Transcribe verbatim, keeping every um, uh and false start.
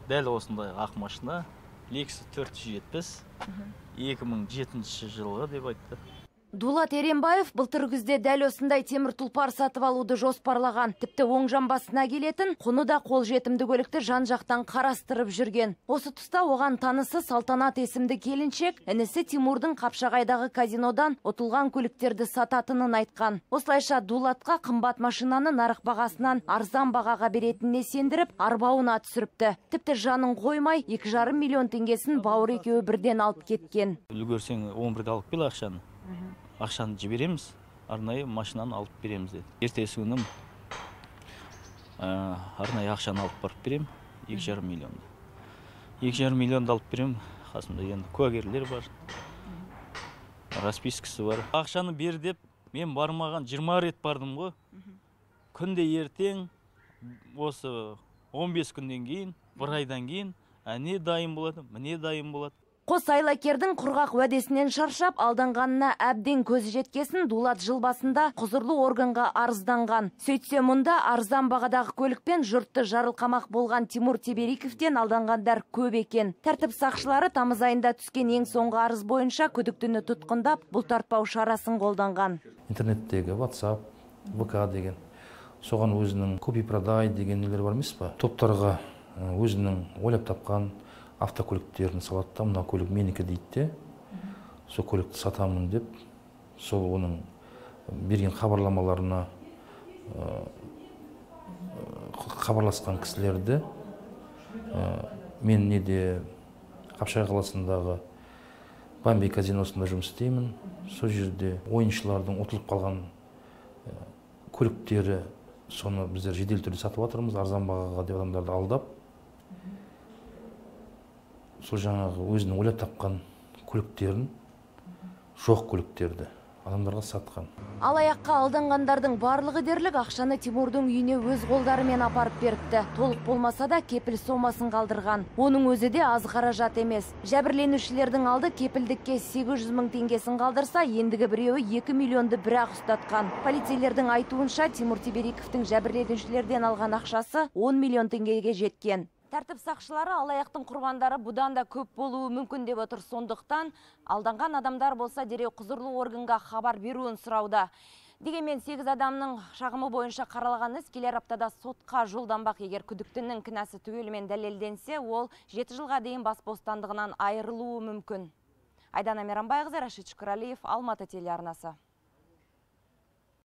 дәл осындай ақ машина Lexus төрт жүз жетпіс екі мың жетінші жылғы деп айтты. Дулат Еренбаев былтыр күзде дәл осындай темір тұлпар сатып алуды жоспарлаған. Тіпті оң жамбасына келетін, құны да қолжетімді көлікті жан-жақтан қарастырып жүрген. Осы тұста оған танысы Салтанат есімді келіншек, інісі Тимурдың Қапшағайдағы казинодан ұтылған көліктерді сататынын айтқан. Осылайша Дулатқа қымбат машинаны нарық бағасынан арзан бағаға беретініне сендіріп, арбауына түсіріпті. Тіпті жанын қоймай, екі жарым миллион теңгесін бауыр екеуі бірден алып кеткен. Үлгерсең он бірде алып кел ақшаны. Ақшаны жібереміз, арнайы машинаны алып береміз деді. Ертесі күнім арнайы ақшаны алып барып берем, екі жарым миллионды. екі жарым миллионды алып берем, қасымда енді куәгерлер бар, распискасы бар. Ақшаны бер деп, мен бармаған жиырма рет бардым ғой. Күнде ертең, осы он бес күнден кейін, бір айдан кейін, әне дайын болады, міне дайын болады. Қос айлакердің құрғақ уәдесінен шаршап, алданғанына әбден көзі жеткесін Дулат жыл басында құзырлы органға арызданған. Сөйтсе мұнда арзан бағадағы көлікпен жұртты жарылқамақ болған Тимур Тебериковтен алданғандар көп екен. Тәртіп сақшылары тамыз айында түскен ең соңғы арыз бойынша күдіктіні тұтқындап, бұлтартпау шарасын қолданған. Интернеттегі WhatsApp, вэ ка деген, соған өзінің купи-продай деген нелер бар емес па? Топтарға өзінің ойлап тапқан автокөліктерін салады да, мына көлік менікі дейді де, сол көлікті сатамын деп, сол оның берген хабарламаларына хабарласқан кісілерді мен неде Қапшағай қаласындағы Бомбей казиносында жұмыс істеймін. Сол жерде ойыншылардың ұтылып қалған көліктері, соны біздер жедел түрде сатып жатырмыз, арзан бағаға деп адамдарды алдап, сол жаңағы өзінің ойлап тапқан көліктерін, жоқ көліктерді адамдарға сатқан. Алаяққа алданғандардың барлығы дерлік ақшаны Тимурдың үйіне өз қолдарымен апарып беріпті. Толық болмаса да кепіл сомасын қалдырған. Оның өзі де аз қаражат емес. Жәбірленушілердің алды кепілдікке сегіз жүз мың теңгесін қалдырса, ендігі біреуі екі миллионды бірақ ұстатқан. Полицейлердің айтуынша Тимур Тебериковтің жәбірленушілерден алған ақшасы он миллион теңгеге жеткен. Тәртіп сақшылары алаяқтың құрбандары бұдан да көп болуы мүмкін деп отыр. Сондықтан алданған адамдар болса дереу құзырлы органға хабар беруін сұрауда. Дегенмен сегіз адамның шағымы бойынша қаралған іс келер аптада сотқа жолданбақ. Егер күдіктінің кінәсі түгелімен дәлелденсе, ол жеті жылға дейін бас бостандығынан айырылуы мүмкін. Айдана Мейрамбайқызы, Рашид Шүкірәлиев, Алматы телеарнасы.